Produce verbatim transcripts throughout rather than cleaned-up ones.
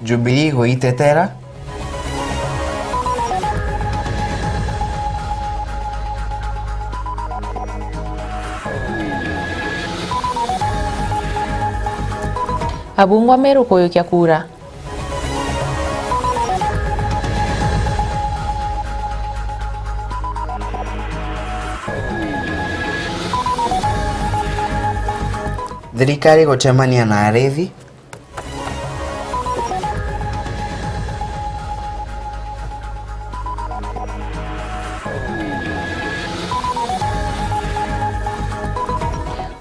Jubilee guitetera. Abungwa Meru kuyukia kura. Thirikari gucemania na arithi.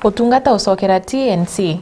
Utungata ucokera T N C.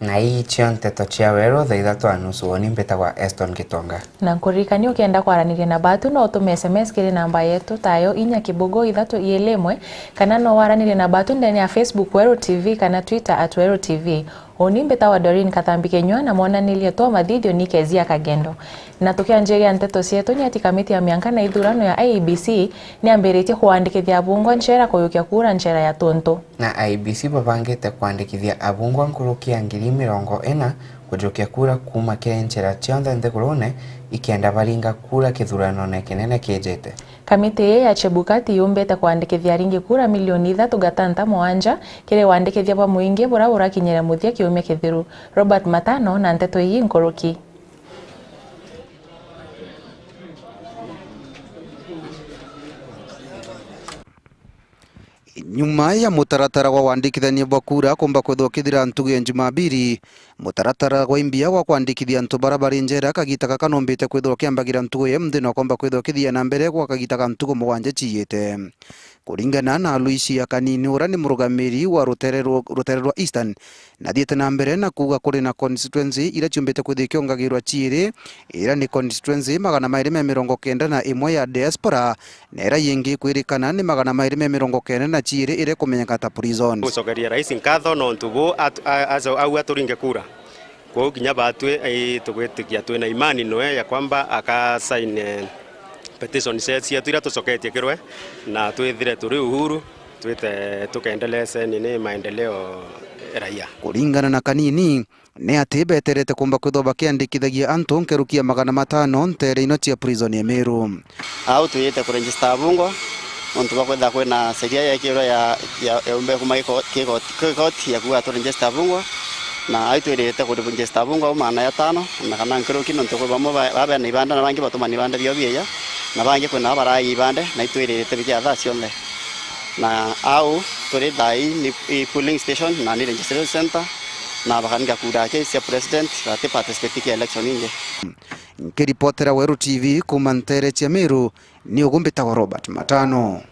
Na ii cio nteto cia weru thaa ithatu na nusu. Uuni mbitagwa Eston Gitonga. Na nkuririkanie, ukienda kwaraniria na batu, no utume S M S kiri namba yetu, tayo inya kibugu ithatu iili imwe, kana no waranirie na batu ndene ya Facebook Weru T V kana Twitter at Weru T V. Uuni mbitagwa Doreen Kathambi Kinyua, na mwonanirie twa mathithio ni Kezia Kagendo. Na tukianjiria nteto cietu, ni ati kamiti ya mianka na ithurano ya I E B C niambiritie kuandikithia abungwa nchera kuyukia kura nchera ya tuntu. Na I E B C babangite kwandikithia abungwa nkuruki ya ngiri mirongo ina kujukia kura kuuma kiri nchera cionthe nthigurune, ikenda baringa kura kithuranone kinene kijite. Kamiti ii ya Chebukati yumbite kwandikithia aringi kura milioni ithatu gatanta mwanja kiri wandikithia bwa muingi buria burakinyire muthia kiumia kithiru. Robert Matano na nteto ii nkuruki. Nyuma ya mutaratara gwa wandikithania bwa kura kumba kwithwa ukithira ntugu ya Jumapili, mutaratara gwa imbia gwa kwandikithia antu bara bari njera kagita gaka numbite kwithwa ukiambagira ntugu ya imunthi na ukomba kwithwa ukithia na mbere gwa kagita ga ntugu mugwanja ciiyite. Kuringana na Aloysia Kanini, uria ni murugamiri wa rutere rwa, rutere rwa Eastern, nathiite na mbere na kuuga kuri na constituency iria ciumbite kwithwa ikiongagirwa ciiri, iria ni constituency magana mairi me mirongo kenda na imwe ya diaspora, na iria yingi kwirikana ni magana mairi me mirongo kenda na ciiri iria ikumenyeka ta prisons. Gucokeria Rais nkatho nontu bu at-, a-, aco-, au aturinge kura. Kwou kinya batwi, ii, tugwitikia twina imani noe ya kwamba aka sign, eh, petition cie-, cietu iria tucoketie kirwe, na twithire turi uhuru, twite tukendeleze nini maendeleo raia. Kuringana na Kanini, ni ati beterete kumba kwithwa bakiandikithagia antu nkuruki ya magana matano ntere ino cia prison ya Meru. Au twiyite kuregister abungwa, nontu bwa kwithira kwina sheria yeekirwe ya, ya, ya umbe kuma giko-, giko-, gikoti ya kuuga turegister abungwa, na au twirite kuregister abungwa au magana jatano, na kana nkuruki, nontu kwi bamwe ba, ba bena ibanda, na bangi batumana ibanda biao bieja, na bangi kwina baraai ibanda, na itwirite bikia thaa cionthe. Na au turi thaa ii ni, i polling station na ni registration center, na bakaringa kura aki cia president, bati participate kia election ingi. Nkiripotera Weru T V kuuma ntere cia Meru, ni ugu mbitagwa Robert Matano.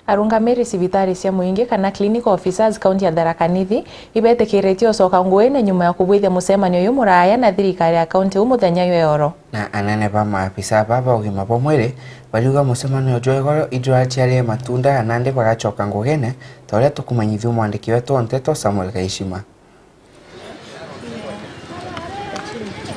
Arungamiri cibitari cia muingi kana clinical officers kaunti ya Tharaka Nithi ibetikiritie ucoka nguine nyuma ya kubwithia mucemanio uyu muraya na thirikari ya kaunti u muthenya jwa oro. Na anene ba maabisa ba ba ugima bwa mwiri bariuga mucemanio jwa igoro ijwaciarire matunda, na nandi bagacoka ngugine, ta uria tukumanyithua mwandiki wetu wa nteto Samuel Kaishima.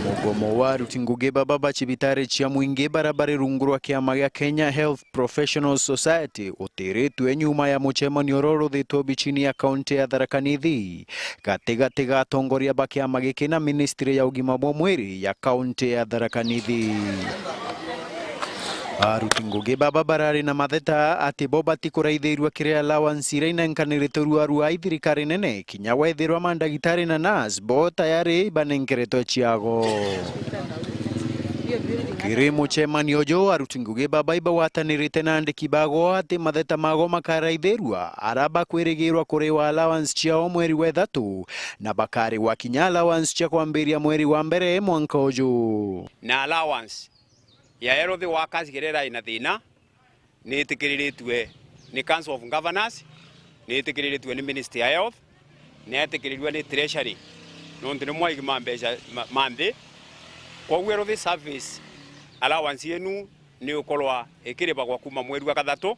Mugomo wa aruti ngugi baba ba cibitari cia mwingi bara bari rungu rwa kiama gia Kenya Health Professionals Society utiritwe nyuma ya mucemanio uria uruthitwe obichini ya kaunti ya Tharaka Nithi gatigati ga atongoria ba kiama giki na ministry ya ugima bwa mwiri ya kaunti ya Tharaka Nithi. Aruti ngugi baba barari na matheta ati bo batikuraithirua kiri allowance iria inenkanirite ruarua i thirikari nene, kinya wethirwa mandagitari na nurse bo tayari ibanenkeretwe ciago. Kiri mucemanio uju, aruti ngugi baba ibagwatanirite na andiki bago ati matheta mago makaraithirua, ara bakwirigirwa kuriwa allowance ciao mweri wa ithatu, na bakarigwa kinya allowance cia kwambiria mweri wa mbere mwanka uju. Na allowance ya health workers kiria irai na thina, ni itikiriritue ni Council of Governors, ni itikiriritue ni Ministry ya Health, na itikirirue ni Treasury, nontu ni mwaigi ma mbeca ma, ma nthi. Kwoguo health service allowance yenu ni ukorwa ikiribagwa kuma mweri wa kathatu,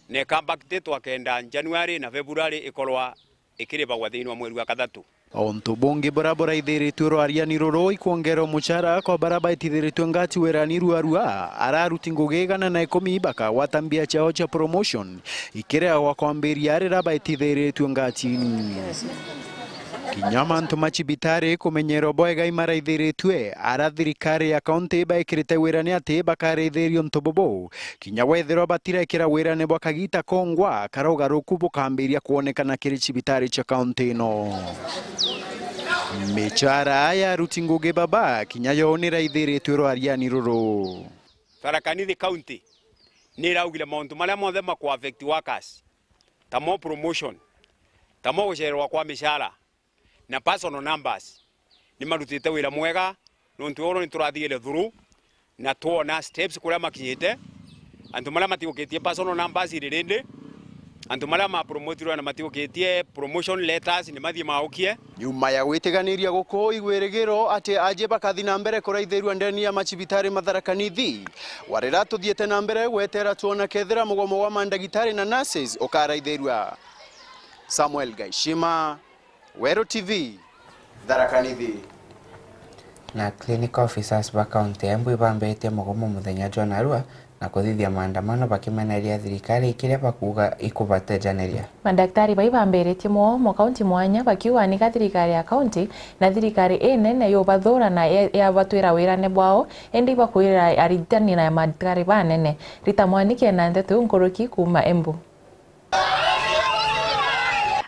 Na ikabackdatwa kenda January na February ikorwa ikiribagwa thiini wa mweri wa kathatu. Untu bungi buria buraithiritue rwariani ruru ikwongerwa mucara kwa baria baitithiritue ngati wirani ruarua, aria aruti ngugi igana na ikumi bakagwata mbia ciao cia promotion ikiregagwa kwambiria riria baitithiritue ngatini. Kinya mantu ma cibitari kumenyerwa bwega imaraithiritue, aria thirikari ya kaunti baikirite wira ni ati bakarithiria untu bubu, kinya wethirwa batirekira wirane bwa kagita kongwa, karia ugaruku bukambiria kwonekana kiri cibitari cia kaunti ino. Micara ya aruti ngugi baba kinya yo niraithiritue rwariani ruru. Tharaka Nithi County niraugire mauntu maria monthe maku affect workers, tamo promotion, tamo gucererwa kwa micara, na personal numbers. Ni marutite wira mwega, nontu oro ni turathire through na twona steps kuria makinyite. Antu maria matiukitie personal numbers iri rindi, antu maria mapromotirwe na matiukitie promotion letters ni mathie maukie. Nyuma ya gwitiganiria guku igwirigiro ati aji bakathi na mbere kuraithirua ndeni ya macibitari Matharaka Nithi, warira tuthiite na mbere gwetera twona kethira mugomo wa mandagitari na nurses ukaraithirua. Samuel Gaishima, Weru T V, Tharaka Nithi. Na clinical officers ba kaunti ya Embu ibambitie mugomo muthenya jwa narua na kuthithia maandamano bakimeneria thirikari ikiria bakuuga ikubatejaniria. Mandaktari bai bambiritie mugomo kaunti mwanya bakiuga nika thirikari ya kaunti na thirikari inene yubathura na ya- yabatwira wirane bwao, indi ibakwirira arigitani na mandaktari banene. Rita Mwaniki ena ndeto iu nkuruki kuuma Embu.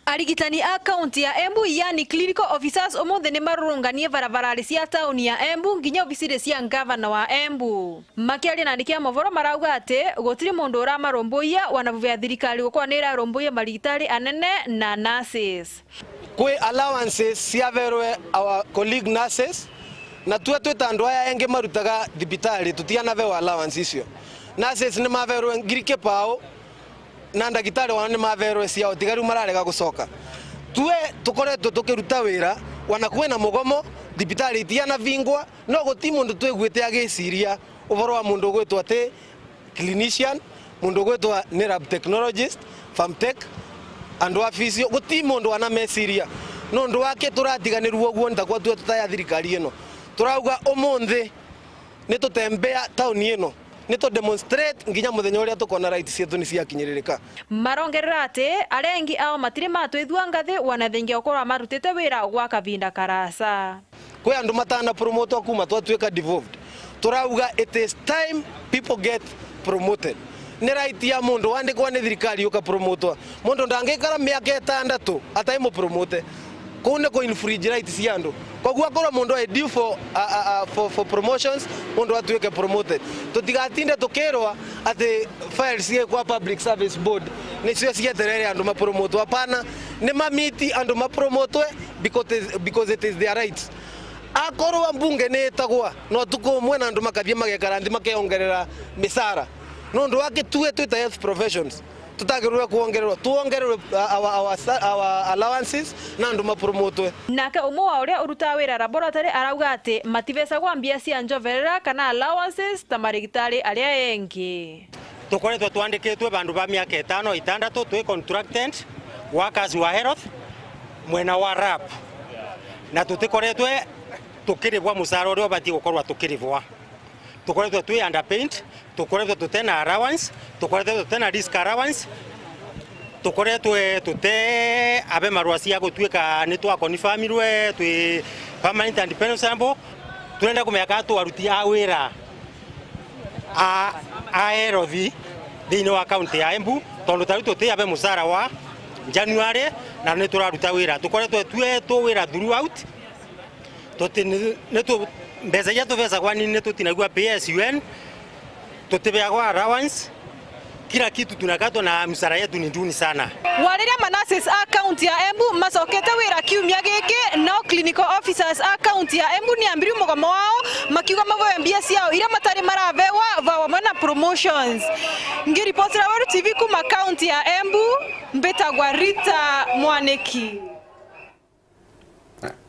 Arigitani a kaunti ya Embu, yani clinical officers, umuthi ni marurunganie barabarari cia tauni ya Embu nginya obisiri cia ngavana wa Embu. Makiaria na andiki a moboro marauga ati gutiri mundu uramarumbuia, wana vuvu ya thirikari gukorwa ni irarumbuia marigitari anene na nurses. Kwi allowances ciaverwe our colleague nurses, na tue twita andu aya engi marutaga thibitari tutianavewa allowance icio. Nurses ni maverwe ngiri kipao, na ndagitari wao ni maverwe ciao, tiga riu mararega gucoka. Tue tukoretwe tukiruta wira, wana kwina mugomo, thibitari itianavingwa, no guti mundu twiguite agiciria uvoro wa mundu ugwitwa ati clinician, mundu ugwitwa ni lab technologist, farm tech, andu a physio, guti mundu wana meciria. Nundu wake turatiganirua uguo, ntakwa tue tutaya thirikari ino. Turauga umunthi ni tutembea tauni ino. Ni tu demonstrate nginya muthenya uria tukona rights cietu ni ciakinyiririka. Marongerera ati aria engi ao matiri matwithua ngathi, wana thengia ukorwa marutite wira gwa kavinda karasa. Kwi andu matana promotwa kuma twatuika devolved. Turauga it is time people get promoted. Ni right ya mundu wandikwa ni thirikari uka promotwa. Mundu ndangikara miaka itandatu atai mu promote. Kuu ni ku infringe rights cia andu. Koguo akorwo mundu ai due for, a, a, a, for, for promotions, mundu atuike promoted. Tutigatinde tukirwa ati files ciikwa Public Service Board nicio cieterere andu mapromotwe. Hapana, ni mamiti andu mapromotwe because it is, because it is their rights. Akorwo mbunge ni itagwa na utuku umwe na andu makathie magekara nthi makeongerera micara. Nundu wa gitue twita health professions, tutagirwe kuongererwa, tuongererwe, uh, our, our, sa- our allowances na andu mapromotwe. Nake umwe wa uria urutaga wira laboratory arauga ati mativecagwa mbia cia njoverera kana allowances ta marigitari aria engi. Tukoretwe twandikitwe bandu ba miaka itano itandatu twi contracted workers wa health mwena wa lab, na tutikoretwe tukirivwa mucara uria ubatie gukorwa tukirivwa. Tukoretwe twi underpaid, tukoretwe tutena allowance, tukoretwe tutena risk allowance, tukoretwe tute abe marua cia gutuika ni twa confirmirwe twi permanent and pensionable. Turenda kumenya kana twaruti a wira a, a health thiini wa kaunti ya Embu, tondu tariu tuti abe mucara wa January na ni turaruta wira. Tukoretwe twe tu wira throughout. Tuti, ni, ni tu, mbeca iria tubecagwa ni, ni tutinagua P S U N, tutibeagwa allowance, kila kitu tunakatwa na msara yetu ni duni sana. Wariria ma nurses a kaunti ya Embu macokete wira kiumia giki, nao clinical officers a kaunti ya Embu ni ambiriu mugomo wao, makiuga maboe mbia ciao iria matari marabewa vau amwe na promotions. Ngiripotera Weru T V kuma kaunti ya Embu, mbitagwa Rita Mwaniki.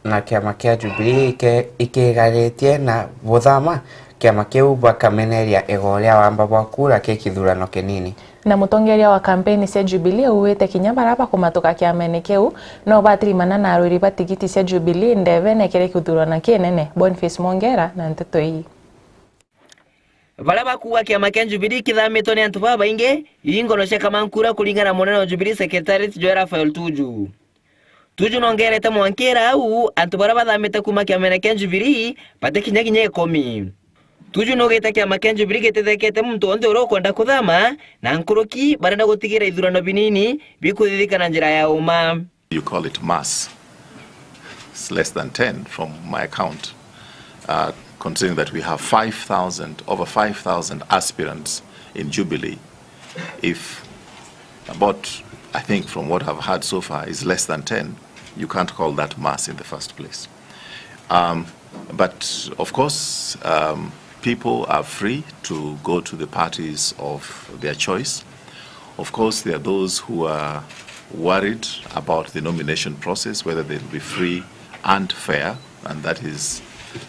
Na kiama kia Jubilee ike-, ikigaritie na buthama Kiama kiu bakameneria igoro ria wamba bwa kura ki kithurano kinini. Na mutongeria wa kampeni cia Jubilee auwite kinya bara bakumatuka kiamene kiu no batirimana na arwiri ba tigiti cia Jubilee ndebene kiri kithurano kinene. Boniface Mwongera na nteto ii. Baria bakuuga kiama kia Jubilee kithamitwe ni antu babaingi, ii ngono cia kamankura kuringana na munene wa Jubilee Secretariat Joe Raphael Tuju. Tuju nongerete mwankira au, antu baria bathamite kuuma kiamene kia Jubilee batikinya kinya ikumi. Tuju nugite kiama kia Jubilee gitithekete muntu wonthe uria ukwenda kuthama, na nkuruki barenda gutigira ithurano binini bikuthithika na njira ya uma. You call it mass. It's less than ten from my account, uh, considering that we have five thousand, over five thousand aspirants in Jubilee. If about, I think from what I've heard so far, is less than ten, you can't call that mass in the first place. Um, but of course, um, people are free to go to the parties of their choice. Of course, there are those who are worried about the nomination process, whether they'll be free and fair, and that is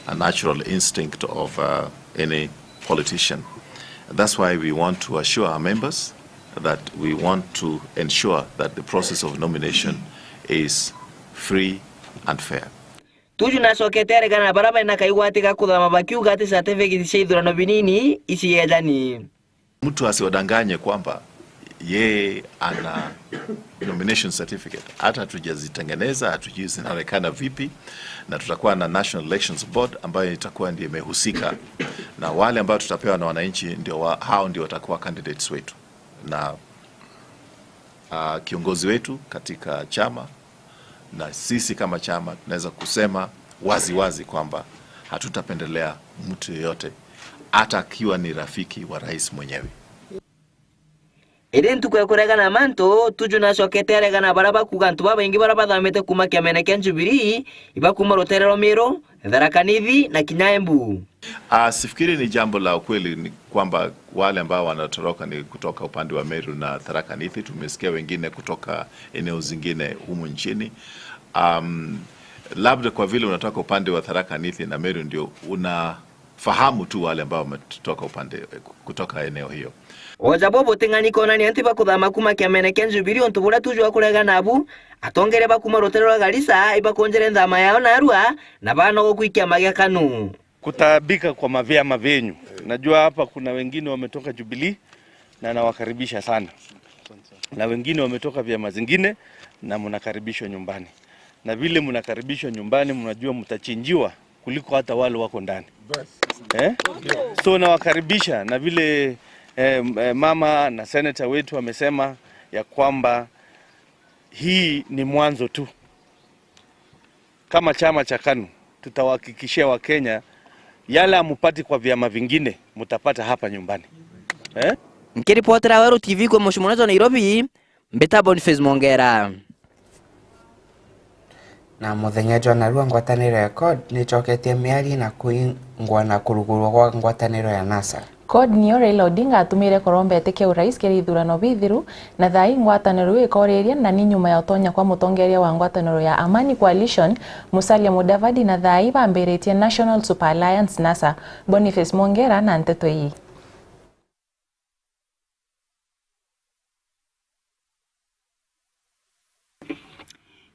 a natural instinct of, uh, any politician. That's why we want to assure our members that we want to ensure that the process of nomination is free and fair. Tuju nacokete aregana na baria bena kaigwati ga kuthama bakiuga ati certificate cia ithurano binini iciejani. Mtu asiwadanganye kwamba yeye ana nomination certificate. Hata hatujazitengeneza, hatujui zinaonekana vipi, na tutakuwa na National Elections Board ambayo itakuwa ndio imehusika, na wale ambao tutapewa na wananchi ndio wa, hao ndio watakuwa candidates wetu, na, ah, kiongozi wetu katika chama na sisi kama chama tunaweza kusema wazi wazi kwamba hatutapendelea mtu yeyote, hata akiwa ni rafiki wa rais mwenyewe. Indi ntuku ya kuregana mantu, Tuju nacokete aregana baria bakuuga antu babaingi baria bathamite kuuma kiamene kia Jubilee, ibakuuma rutere rwa Meru, Tharaka Nithi na kinya Embu. Ah, sifikiri ni jambo la ukweli ni kwamba wale ambao wanatoroka ni kutoka upande wa Meru na Tharaka Nithi. Tumesikia wengine kutoka eneo zingine humu nchini. Um, labda kwa vile unatoka upande wa Tharaka Nithi na Meru ndio una fahamu tu wale ambao wametoka upande, kutoka eneo hiyo. Oja bo buting'ani kwonania nti bakuthama kuuma kiamene kia Jubilee untu buria Tuju akuregana nabu, atongeria ba kuuma rutere rwa Garissa ibakunjire nthama yao narua na banogoku i kiama gia KANU. Kutaabika kwa mavyama vyenyu. Najua hapa kuna wengine wametoka Jubilee na nawakaribisha sana. Na wengine wametoka vyama zingine na mnakaribishwa nyumbani. Na vile mnakaribishwa nyumbani, mnajua mtachinjiwa kuliko hata wale wako ndani. Eh? So nawakaribisha, na vile, eh, eh, mama na senator wetu amesema ya kwamba hii ni mwanzo tu. Kama chama cha KANU, tutawahakikishia Wakenya yale hamupati kwa vyama vingine, mutapata hapa nyumbani. Eh? Nkiripotera Weru T V kwa mucii munene jwa Nairobi, mbita Boniface Mwongera. Na muthenya jwa narua ngwataniro ya CORD nicoketie miari na kuingwa na kurugurwa gwa ngwataniro ya NASA. CORD niyo Raila Odinga atumire kuromba itikia urais kiri ithurano bithiru, na thaa ii ngwataniro iu ikoriria na ni nyuma ya utonya kwa mutongeria wa ngwataniro ya Amani Coalition, Musalia Mudavadi, na thaa ii bambiritie National Super Alliance, NASA. Boniface Mwongera na nteto ii.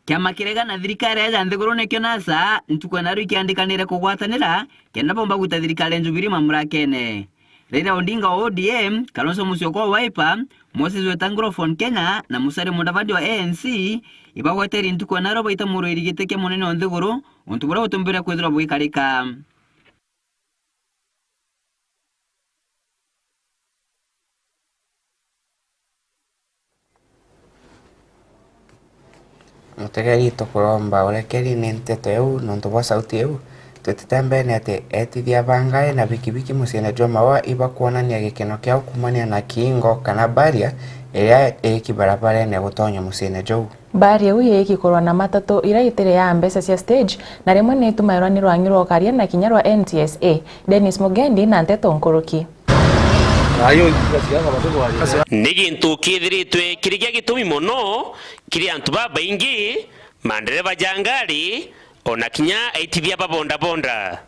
Kiama kiria gina thirikari ya nthiguru nikio NASA, ntuku ya narua ikiandikanire kugwatanira kenda bomba gwita thirikari ya Jubilee mamurakene. Raila Odinga wa O D M, Kalonzo Musyoka wa Wiper, Moses Wetangula wa Ford Kenya na Musalia Mudavadi wa A N C ibagweterie ntuku ya narua baita murwiri giti kia munene wa nthiguru, untu buria butumbire kwithirwa bugikarika. Mutegeri, tukuromba urekeri ni nteto iu nontu bwa sauti iu. Twitite mbene ati etithia ba ngari na bikibiki muciine jwa Maua ibakwonania gikeno kiao kuumania na kiingo kana barrier iria iiki barabarene gutonya muciine juu. Mbaari iu iiki kurwa na matatu iria itiri ya mbeca cia stage, na rimwe ni itumairwa ni rwang'i rwa ukaria na kinya rwa N T S A. Dennis Mugendi na nteto nkuruki. Ni gintu kithiritwe kiri gia gitumi mono kiri antu babaingi, mandereba ja ngari, ona kinya aitithia ba bondabonda.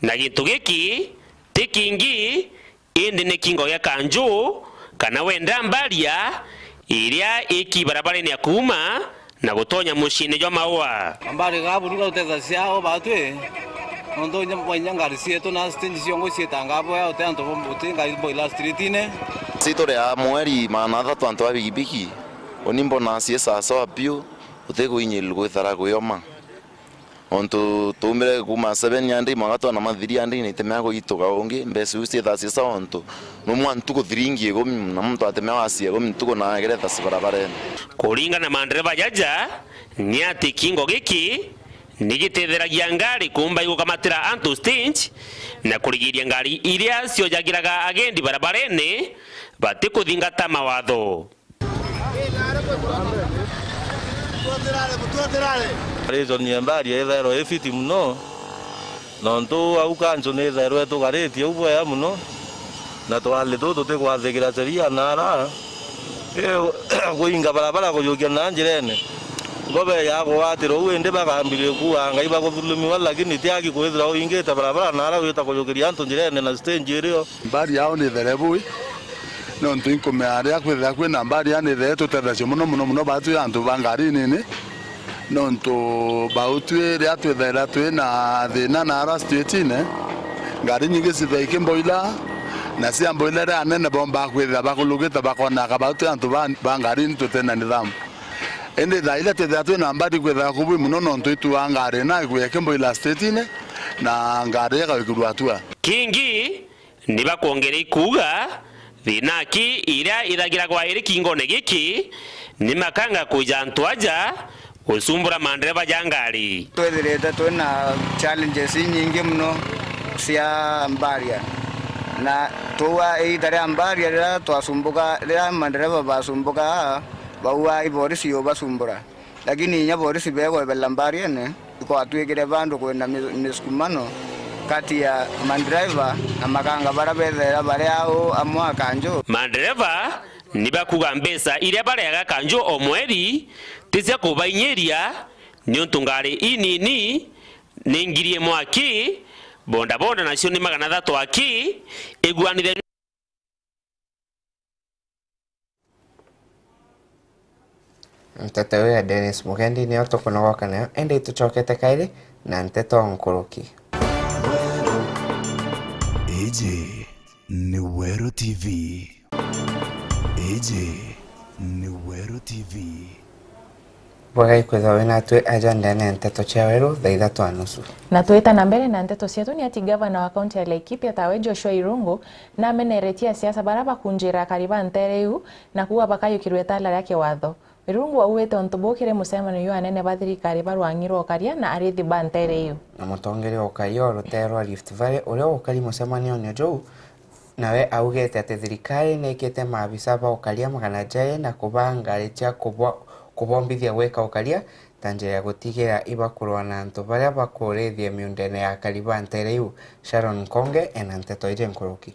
Na gintu giki ti kingi, indi ni kingo gia kanju, kana wenda mbaria, iria iki barabarene ya kuuma na gutonya muciine jwa Maua. Mbari ga buru ga utethia ciao batwi, nontu inya, inya ngari cietu na stage ciongo ciitangaa bwea, uti antu bo-, uti ngari boila streetine. Ci turi a mweri magana athatu antu ba bigibigi, uni mbona ciisasoa biu, uti kuinyirirua gwithara kwioma. Ontu tuumire kuuma seven hundred mwanka twana ma three hundred na itemea kugituka ungi, mbeca iu ciithaa ciisa ontu numwe ntuku thiringi ikumi, na muntu atemea wacia ikumi ntuku na ageretha cibarabarene. Kuringana na mandereva jaja, ni ati kingo giki ni gitetheragia ngari kuumba igukamatira antu stage na kurigiria ngari iria ciojagiraga agendi barabarene batikuthingata mawatho. Reason ya mbari ithairwa i fiti mono, nontu au kanju ni ithairwa itugaritie au bwea mono, na twali tu tutikwathikira sheria na ara, eh, kuinga barabara kujukia na njirene. Ngobe ya kugwatirwa uu indi bakambirie kuuga ngai bakuthulumiwa, lakini ti aki kwithira uingite barabara na ara wita kujukiria antu njirene na stage irio. Mbari yao ni there bui. Nontu inkumea riria kwithira kwina mbari, yani, ithe tutethagia mono, mono, mono, baatwi antu ba ngari nini. Nontu bautwi riria twithaira twina thina na ara streetine, ngari nyingi cithai kimboila, na cia mboila riria anene bombaa kwithira bakulukite, bakona ka bautwi antu ba, ba ngari ni tutena nithamu. Indi thaa iria twithira twina mbari kwithira kubui mono, nontu itua ngari na ikuya kimboila streetine, na ngari igawikirua atua. Kingi, ni bakwongeria ikuuga, thina aki iria ithagiragwa iri kingone giki, ni makanga kwija antu aja gucumbura mandereva ja ngari. Twithirite twina challenges inyingi mono cia mbaria, na tuua iita ria mbaria riria twacumbuka, riria mandereva bacumbuka, bauaa iborisi yubacumbura. Lakini inya borisi begwebela mbariene, ikwatwikire bandu kwina mi-, misukumano kati ya mandriver na makanga baria bethaira bari au amwe a kanju. Mandereva ni bakuga mbeca iria bareaga kanju o mweri ti cia kubainyiria, niuntu ngari inini ni ngiri imwe aki, bodaboda nacio ni magana athatu aki, iguanire. Nteto iu ya Dennis Mugendi niyo tukunogoka nayo, indi tucokete kairi na nteto nkuruki. Iji ni Weru T V. Iji ni Weru T V. Bwega ikwithwa wi natwi aja ndene ya nteto cia Weru thaa ithatu na nusu. Na twita na mbere na nteto cietu, ni ati gavana wa kaunti ya Laikipia tawe Joshua Irungu nameneretie asiasa baria bakunjira akari ba ntere iu na kuuga bakayukirua itaala ria kiwatho. Irungu augite untu buu kiri mucemanio jwa anene ba thirikari ba rwang'i rwa ukaria na arithi ba ntere iu. Na mutongeria wa ukaria wa rutere rwa Rift Valley uria ukari mucemanione juu, nawe augite ati thirikari niikite maabisa ba ukaria magana jairi na kubaa ngari cia kubwa-, kubombithia gwika ukaria ta njira ya gutigira ibakurwa na antu baria bakurithia miundene ya akari ba ntere iu. Sharon Nkonge ena nteto iji nkuruki.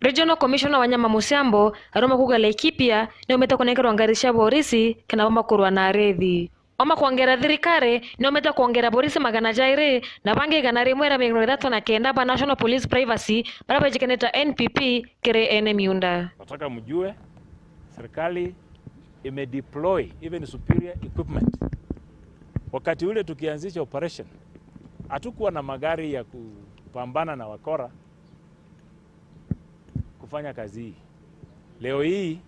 Regional Commissioner Wanyama Musiambo aruma kuuga Laikipia niumite kunenkerwa ngari cia borisi kenda bomba kurwa na arithi. Oma kwongera thirikari niumite kwongera borisi magana jairi na bangi igana rimwe ria mirongo ithatu na kenda ba National Police Privacy baria bejikanite ta N P P kiri ene miunda. Nataka mjue, serikali imedeploy even superior equipment. Wakati ule tukianzisha operation, hatukuwa na magari ya kupambana na wakora kufanya kazi hii. Leo hii,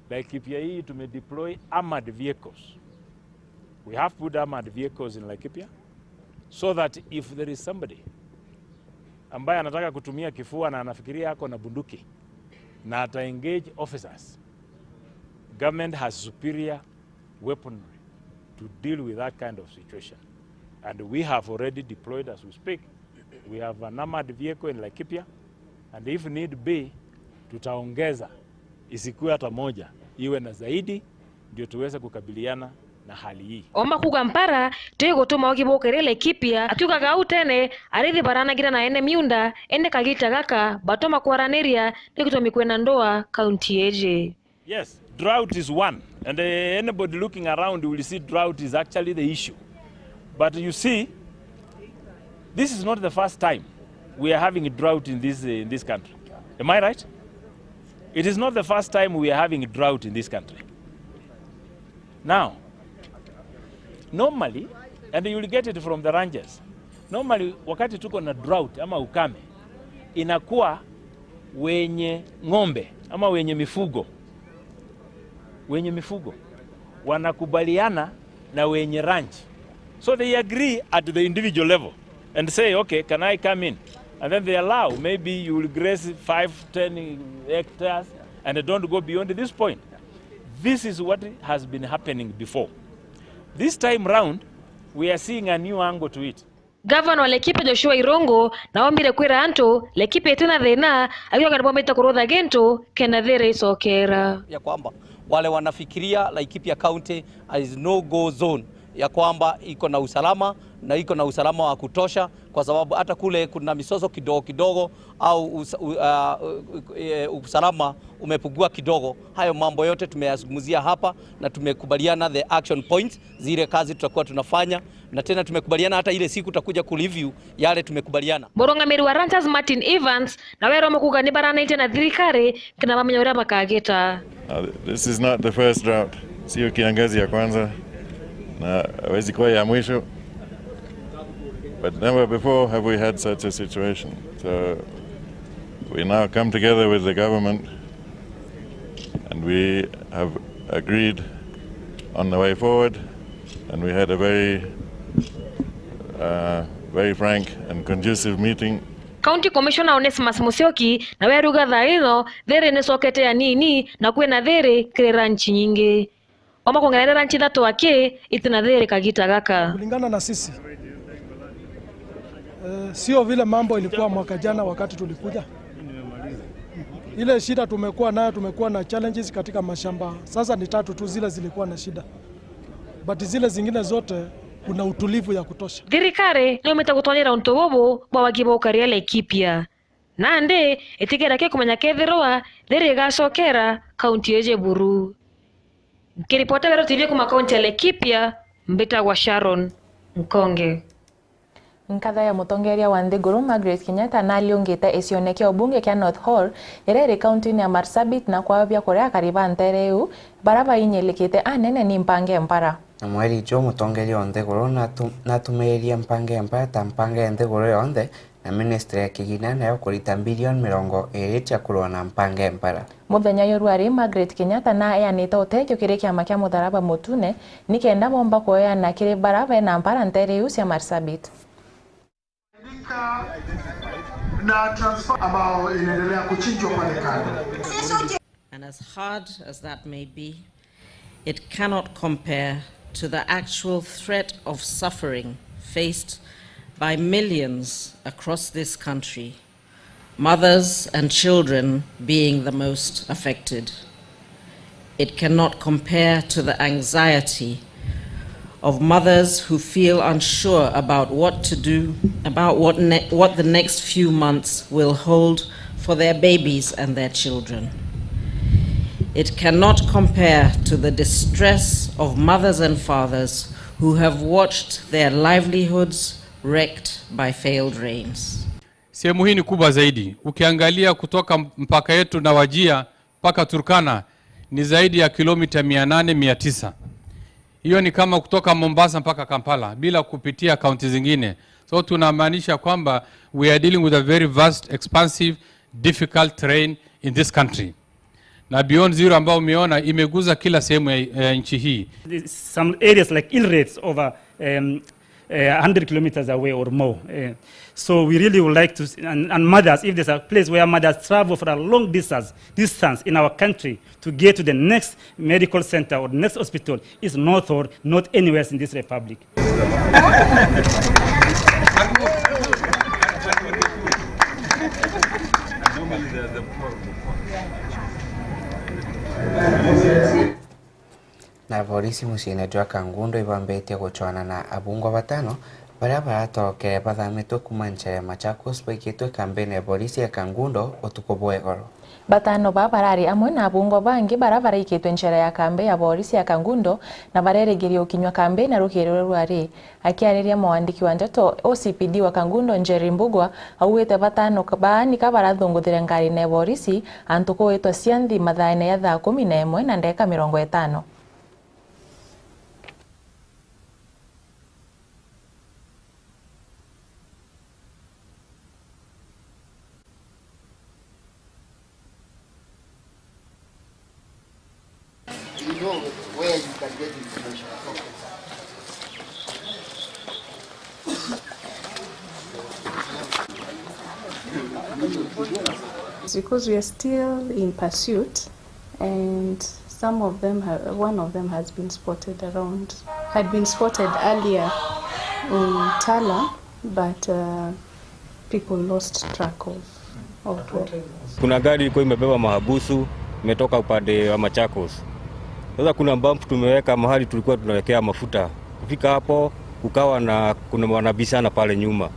Laikipia hii tumedeploy armored vehicles. We have put armored vehicles in Laikipia so that if there is somebody ambaye anataka kutumia kifua na anafikiria ako na bunduki na ata engage officers, government has superior weaponry to deal with that kind of situation. And we have already deployed as we speak. We have an armored vehicle in Laikipia, and if need be, tutaongeza, isikuwe hata moja, iwe na zaidi, ndio tuweze kukabiliana na hali hii. Oma kuuga mpara ti gutuma ugi bukiri Laikipia, akiugaga au tene arithi baranagira na ene miunda, indi kagita gaka batuma kwaraniria ni gitumi kwina ndua kaunti iji. Yes, drought is one. And, uh, anybody looking around will see drought is actually the issue. But you see, this is not the first time we are having a drought in this, uh, in this country. Am I right? It is not the first time we are having a drought in this country. Now, normally, and you will get it from the ranchers, normally wakati tuko na drought ama ukame, inakuwa wenye ng'ombe ama wenye mifugo, wenye mifugo wanakubaliana na wenye ranch. So they agree at the individual level and say, "Okay, can I come in?" And then they allow, maybe you will graze five, ten hectares and don't go beyond this point. This is what has been happening before. This time round, we are seeing a new angle to it. Gavana wa Laikipia Joshua Irungu naombire kwira antu Laikipia itina thina, akiuga nibombite kurutha gintu kenda thiiri icokera. Ya kwamba wale wanafikiria Laikipia County is no go zone, ya kwamba iko na usalama na iko na usalama wa kutosha, kwa sababu hata kule kuna misoso kidogo kidogo au usa-, u-, ah, u-, u-, eh, usalama umepungua kidogo. Hayo mambo yote tumeyazungumzia hapa na tumekubaliana the action points, zile kazi tutakuwa tunafanya, na tena tumekubaliana hata ile siku tutakuja kureview yale tumekubaliana. Murungamiri wa Ranchers Martin Evans nawe aromba kuuga ni baranaitie na thirikari kenda bamenya uria bakagita. Uh, this is not the first drought. Sio kiangazi ya kwanza na hawezi kuwa ya mwisho. But never before have we had such a situation. So we now come together with the government and we have agreed on the way forward, and we had a very, uh, very frank and conducive meeting. County Commissioner Onesmus Musyoki nawe aruga thaa ino thiiri nicokete anini na kwina thiiri kiri ranch nyingi. Oomba kwongerera ranch ithatu aki itina thiiri kagita gaka. Kulingana na sisi, eh, sio vile mambo ilikuwa mwaka jana wakati tulikuja. Ile shida tumekuwa nayo, tumekuwa na challenges katika mashamba. Sasa ni tatu tu zile zilikuwa na shida. But zile zingine zote kuna utulivu ya kutosha. Thirikari niumite gutonyera untu bubu bwa wagi bwa ukaria Laikipia. Nandi itigera ki kumenya kethirwa thiiri igacokera kaunti iji buru. Nkiripota Weru T V kuma kaunti ya Laikipia, mbitagwa Sharon Nkonge. Nkatha ya mutongeria wa nthiguru Margaret Kenyatta naliungite gicione kia ubunge kia North Horr, iria iri kaunti-ini ya Marsabit, na kwabia kuria akari ba ntere iu baria bainyilikite anene ni mpange mpara. Na mweri juu mutongeria wa nthiguru natu-, natumiirie mpange mpara ta mpange ya nthiguru yonthe, na ministry ya kigina nayo kurita bilioni mirongo iiri cia kurua na mpange mpara. Muthenya juu rwari, Margaret Kenyatta na eanite utethio kiri kiama kia Mutharaba Mutune, ni kenda bomba kueana kiri bara bena mpara ntere iu cia Marsabit. Na transfer ambayo inaendelea kuchinjwa pale kando. And as hard as that may be, it cannot compare to the actual threat of suffering faced by millions across this country, mothers and children being the most affected. It cannot compare to the anxiety of mothers who feel unsure about what to do, about what ne-, what the next few months will hold for their babies and their children. It cannot compare to the distress of mothers and fathers who have watched their livelihoods wrecked by failed rains. Sehemu hii ni kubwa zaidi. Ukiangalia kutoka mpaka yetu na Wajir mpaka Turkana ni zaidi ya kilomita mia nane, mia tisa. Hiyo ni kama kutoka Mombasa mpaka Kampala bila kupitia kaunti zingine. So tunamaanisha kwamba we are dealing with a very vast, expansive, difficult terrain in this country. Na Beyond Zero ambao umeona imeguza kila sehemu ya, ya nchi hii. Some areas like Eldoret over, um, uh, hundred kilometers away or more. Uh, so we really would like to s-, and, and mothers, if there's a place where mothers travel for a long distance, distance in our country to get to the next medical center or next hospital, is North Horr, not anywhere in this republic. Na borisi muciine jwa Kangundo ibambitie gucwana na abungwa batano baria baratokere bathamitwe kuuma ncera ya Machakos baikitwe kambine ya borisi ya Kangundo utuku bwa igoro. Batano baa barari amwe na abungwa bangi bara baraikitwe njera ya kambi ya borisi ya Kangundo na barerigiria ukinywa kambi na rukiri ruria rwari. Akiariria mwandiki wa ndeto, O C P D wa Kangundo, Njeri Mbugua, augite batano baa nika barathunguthire ngarine ya borisi antu kuwitwa Cianthi mathaene ya thaa kumi na imwe na ndeka mirongo itano. You know where you can get information from. Because we are still in pursuit, and some of them ha-, one of them has been spotted around, had been spotted earlier in Tala, but, uh, people lost track of, of where. Kuna gari ilikuwa imebeba mahabusu, imetoka upande wa Machakos. Sasa kuna bump tumeweka mahali tulikuwa tunawekea mafuta. Kufika hapo, kukawa na, kuna wanabishana pale nyuma,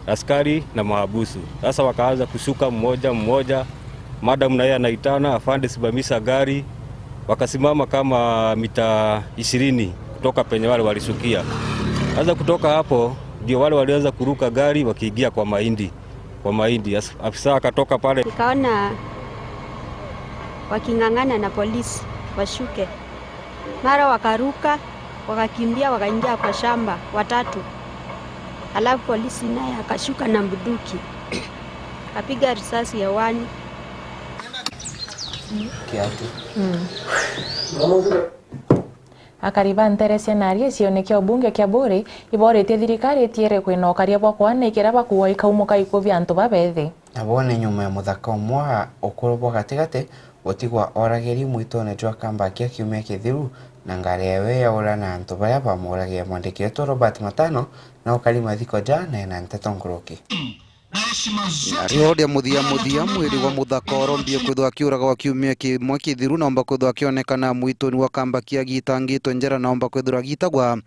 askari na mahabusu. Sasa wakaanza kushuka mmoja mmoja, madam na yeye anaitana, "Afande, simamisha gari." Wakasimama kama mita ishirini kutoka penye wale walishukia. Sasa kutoka hapo, ndio wale walianza kuruka gari wakiingia kwa mahindi, kwa mahindi. As-, afisa akatoka pale. Nikaona waking'ang'ana na polisi washuke. Mara wakaruka, wakakimbia, wakaingia kwa shamba, watatu. Alafu polisi naye akashuka na bunduki. Akapiga risasi hewani. Kiatu. Mm. Akari ba nterecia na aria gicione kia ubunge kia Buuri iboritie thirikari itiere kwina ukaria bwa kwanaikiria bakuua ikaumuka ikuo bia antu babethi. Nabo ni nyuma ya muthaka umwe wa ukuru bwa gatigati gutigwa oragiri mwitune jwa Kambakia kiumia kithiru, na ngari yawe yaura na antu baria bamuragire. Mwandiki wetu Robert Matano na ukari mathiko ja neena nteto nkuruki. Na rioria muthia muthia, mwiri wa muthaka orombie kwithwa akiuraga wa kiumia kimwe kithiru, naomba kwithwa akionekana mwituni wa Kambakia agitangitwe njara, naomba kwithirwa agitagwa.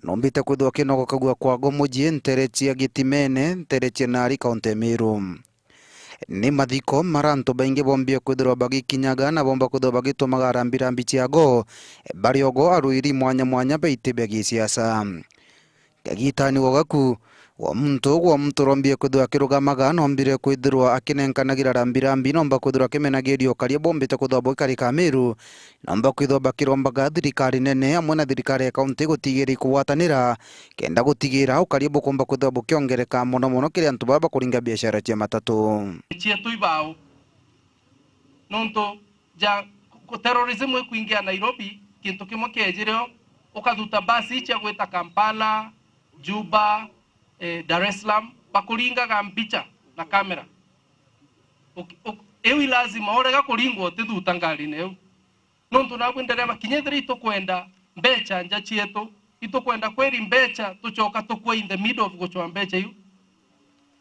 Nombite kwithwa kinogokagua kwa Gomoji, ntere cia Gitimene, ntere cia Nari, kaunti ya Meru. Ni mathiko mara antu baingi bombie kwithirwa bagikinyaga na bomba kwithirwa bagitumaga rambirambi ciago, bari ogo arwiri mwanya mwanya ba iti bia gisiasa. Kagitani gogaku, wa muntu, wa muntu urombie kwithirwa akirugamaga, nombire kwithirwa akinenkanagira rambirambi, nomba kwithirwa akimenagiria ukaria bombite kwithirwa bwikarika Meru, nomba kwithirwa bakirombaga thirikari nene amwe na thirikari ya kaunti gutigira ikugwatanira, kenda gutigira ukaria bukumba kwithirwa bukiongereka mono mono kiri antu baba bakuringa biashara cia matatu. Cietu ibao. Nontu ja ku-, terrorism ikwingia Nairobi, kintu kimwe kiejire o, ukathuta basi cia gwita Kampala, Juba, eh, Dar es Salaam, bakuringaga mbicha na kamera. Uk-, uk-, iu i lazima, urega kuringwa utithuta ngarine iu. Nontu nabwi ndereba, kinya ethira itukwenda mbecha nja cietu, itukwenda kweri mbecha, tucoka tukua in the middle of gucwa mbecha iu.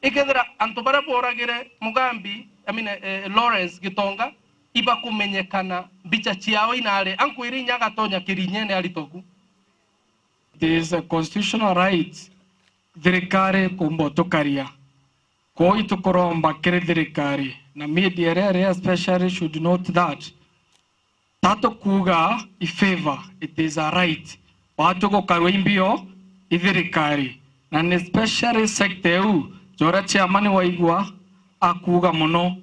Ikethira antu baria boragire Mugambi, I mean, eh, Lawrence Gitonga, ibakumenyekana, mbicha ciao inari, ankwire inya agatonya kirinyene aritoku. It is a constitutional right thirikari kumba utukaria. Kwou itukuromba kiri thirikari, na media iria iri especially should note that. Ta tukuuga i favor, it is a right. Watu gukarua imbio i thirikari. Na ni especially sector iu, jora chairman waigua akuuga mono,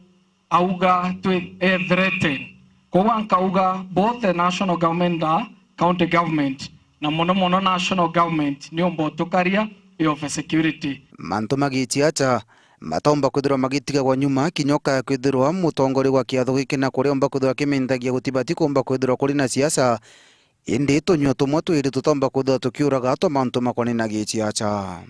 auga twi, e threaten. Koguo nkauga both the national government na county government, na mono mono national government, ni umba utukaria i of security. Mantu magichiacha, mataumba kwithirwa magitigagwa nyuma, kinya ukaya kwithirwa mutongoria wa kiatho giki na kuria umba kwithirwa akimintagia gutibati kumba kwithirwa kuri na siasa, indi tunyua tumwe twiri tutaumba kwithirwa tukiuraga twa mantu makonai na gisiasa.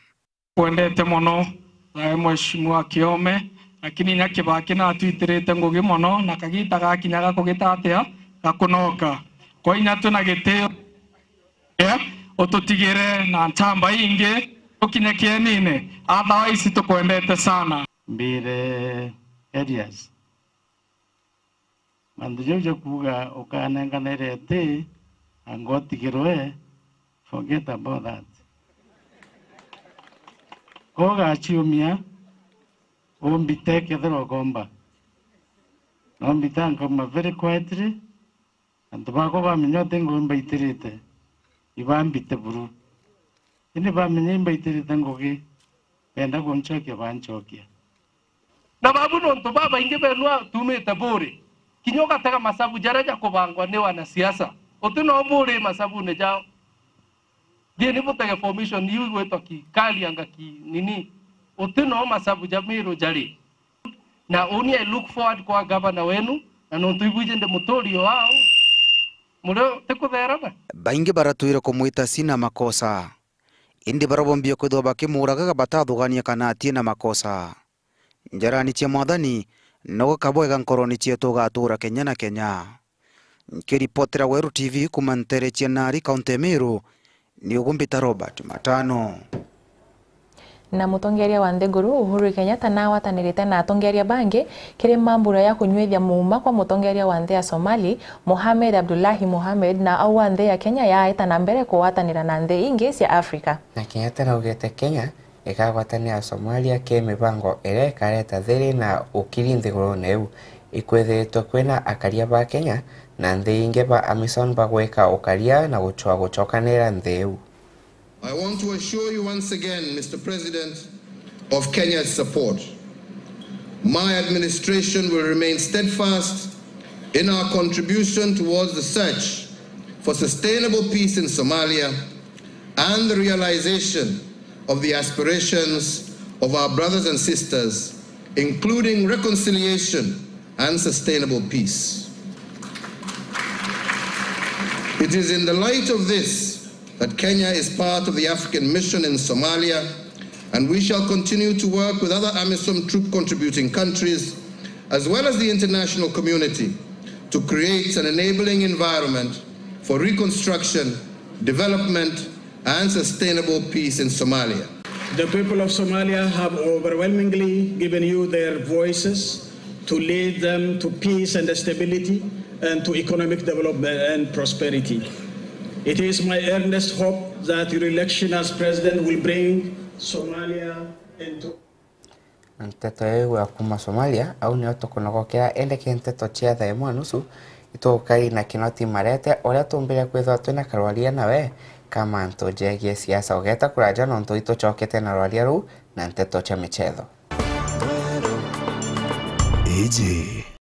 Kwendete mono, thae Mheshimiwa Kiome, lakini inya Kibaki natwitirite ngugi mono, na kagita gakinya ga kugita atia, gakunoka. Kwa inya twina gitio, eh, ututigire na nchamba ingi, tukinye kienine, otherwise tukwendete sana. Mbire Elias. Mantu jau ja kuuga ukanenkanire iti, anga utigirwe, forget about that. Ko ugaciumia, umbite kethirwa ukomba. No mbita nkauma very quietly, antu bakwa bamenya uti ngugi mbaitirite, ibambite buru. Indi bamenya imbaitirite ngugi, benda kuncokia, bancokia. Na babu nontu babaingi benu tumite Buri, kinya ugatega masabu jaria jakubangwa ni wanasiasa, uti no Buri masabune jao. Thiini butege formation iu igwitwa ki Karianga ki nini, uti no masabu ja Miru jari. Na uni I look forward kwa gavana wenu, na nontu ibwiji ndi muturi o ao, murio tikutherana. Baingi baratwire kumwita Sina makosa, indi baria bombie kwithirwa bakimuuragaga batathugania kana atie na makosa. Njarani cia Mwathani, no gakabwega nkoroni cietu ugatuura kenya na kenya. Nkiripotera Weru T V kuuma ntere cia Nari, kaunti ya Meru, ni ugumbita Robert Matano. Na mutongeria wa nthiguru Uhuru Kenyatta nagwatanirite na atongeria bangi kiri mambura ya kunyuithia muuma kwa mutongeria wa nthi ya Somali, Mohamed Abdullahi Mohamed, na au wa nthi ya Kenya yaeta na mbere kugwatanira na nthi ingi cia Afrika. Na Kenyatta naugite Kenya ikagwatanira Somalia ki mibango iria ikareta thiri na ukiri nthigurune iu. Ikwithiritwe kwina akaria ba Kenya na nthi ingi ba AMISOM bagwika ukaria na gucua gucokanira nthi iu. I want to assure you once again, Mister President, of Kenya's support. My administration will remain steadfast in our contribution towards the search for sustainable peace in Somalia and the realization of the aspirations of our brothers and sisters, including reconciliation and sustainable peace. It is in the light of this that Kenya is part of the African mission in Somalia, and we shall continue to work with other AMISOM troop contributing countries, as well as the international community, to create an enabling environment for reconstruction, development, and sustainable peace in Somalia. The people of Somalia have overwhelmingly given you their voices to lead them to peace and stability and to economic development and prosperity. It is my earnest hope that your election as president will bring Somalia into Nteto iu ya kuuma Somalia, au nio tukunogokera, indi ki nteto cia thaa imwe nusu, itukai na Kinoti Marete, uria tumbire kwithirwa twina karwaria nawe ka mantu jegie siasa. Ugeta kuraja nontu itucokete na rwaria ruu na nteto cia michetho. Iji